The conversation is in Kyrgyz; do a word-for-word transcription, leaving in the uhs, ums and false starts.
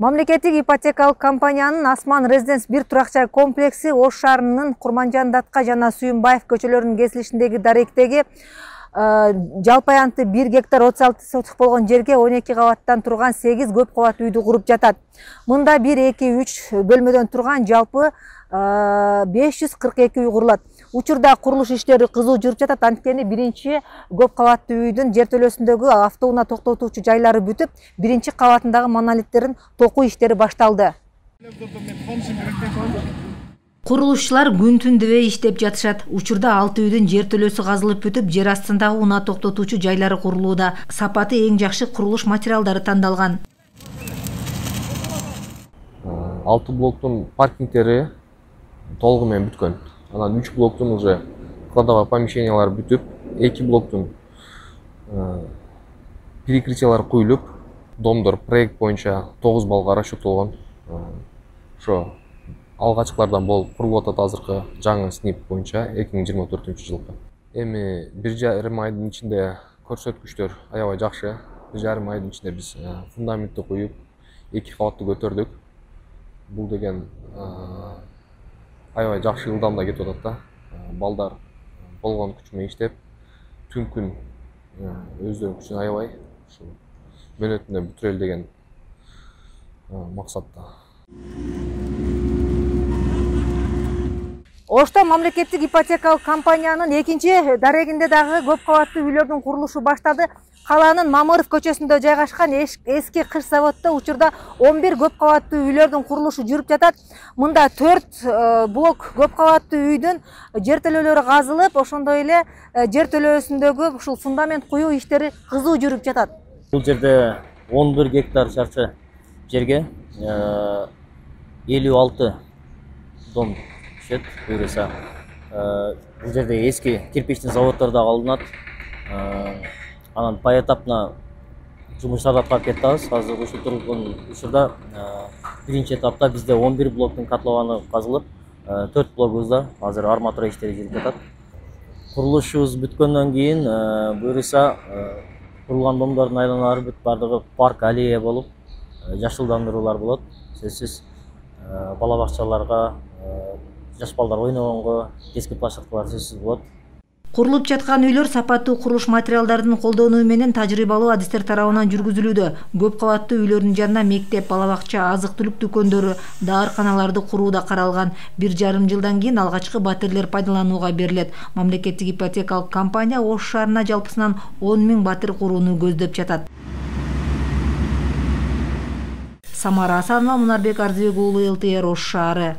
Мамлекеттик ипотекалык компаниянын Асман Резиденс бир турак-жай комплекси Ош шаарынын Курманжан Датка жана Сүйүнбаев көчөлөрүнүн кесилишиндеги даректеги жалпы аянты бир гектар отуз алты соток болгон жерге он эки кабаттан турган сегиз көп кабаттуу үйдү куруп жатат. Мында бир эки үч бөлмөдөн турган жалпы беш жүз кырк эки үй курулат. Учурда курулуш иштери кызуу жүрүп жатат. Анткени биринчи көп кабаттуу үйдүн жертөлөсүндөгү автоунаа токтотуучу жайлары бүтүп, биринчи кабатындагы монолиттерин токуу иштери башталды. Курулушчулар күн-түн дебей иштеп жатышат. Учурда алты үйдүн жертөлөсү казылып бүтүп, жер астындагы унаа токтотуучу жайлары курулууда. Сапаты эң жакшы курулуш материалдары тандалган. алты блоктун паркингтери толугу менен бүткөн. Анан үч блоктун уже кладовой помещениялары бүтүп, эки блоктун перекрытиялары куюлуп, домдор проект боюнча тогуз баллга расчёттолгон. Ошо алгачкылардан болуп курулуп атат азыркы жаңы СНИП боюнча эки миң жыйырма төртүнчү жылкы. Эми бир жарым айдын ичинде көрсөткүчтөр аябай жакшы. Бир жарым айдын ичинде биз фундаментти куюп, эки кабатты көтөрдүк. Бул деген аябай жакшы ылдамда кетип атат да. Балдар болгон күч менен иштеп, түн күн өздөрүнүн күчүн аябай ушул мөөнөтүндө бүтүрөлү деген максатта. Ошто мамлекеттик ипотекалык компаниянын экинчи дарегинде дагы көп кабаттуу үйлөрдүн курулушу баштады. Калаанын Мамыров көчөсүндө жайгашкан эски кыш заводдо учурда он бир көп кабаттуу үйлөрдүн курулушу жүрүп жатат. Мында төрт блок көп кабаттуу үйдүн жертөлөлөрү казылып, ошондой эле жертөлөсүндөгү ушул фундамент куюу иштери кызуу жүрүп жатат. Бул жерде он бир гектар чарчы жерге элүү алты дом түшөт. Буюрса, бул жерде эски кирпичтин заводдор да алынат. Анан поэтапно жумуштарды аткарып жатабыз. Азыр ушул тургун учурда биринчи этапта бизде он бир блоктун котлованы казылып, төрт блогубузда азыр арматура иштери жүрүп жатат. Курулушубуз бүткөндөн кийин буюрса курулган домдордун айланалары бүт бардыгы парк, аллея болуп, жашылдандыруулар болот. Сөзсүз бала бакчаларга, жаш балдар ойногонго, детский площадкалар сөзсүз болот. Курулуп жаткан үйлөр сапаттуу курулуш материалдарын колдонуу менен тажрыйбалуу адистер тарабынан жүргүзүлүүдө. Көп кабаттуу үйлөрдүн жанына мектеп, бала бакча, азык-түлүк дүкөндөрү, даарканаларды куруу да каралган. Бир жарым жылдан кийин алгачкы батирлер пайдаланууга берилет. Мамлекеттик ипотекалык компания Ош шаарына жалпысынан он миң батир курууну көздөп жатат. Самара Асанова, Мунарбек Арзыбек уулу, эл тэ эр Ош шаары.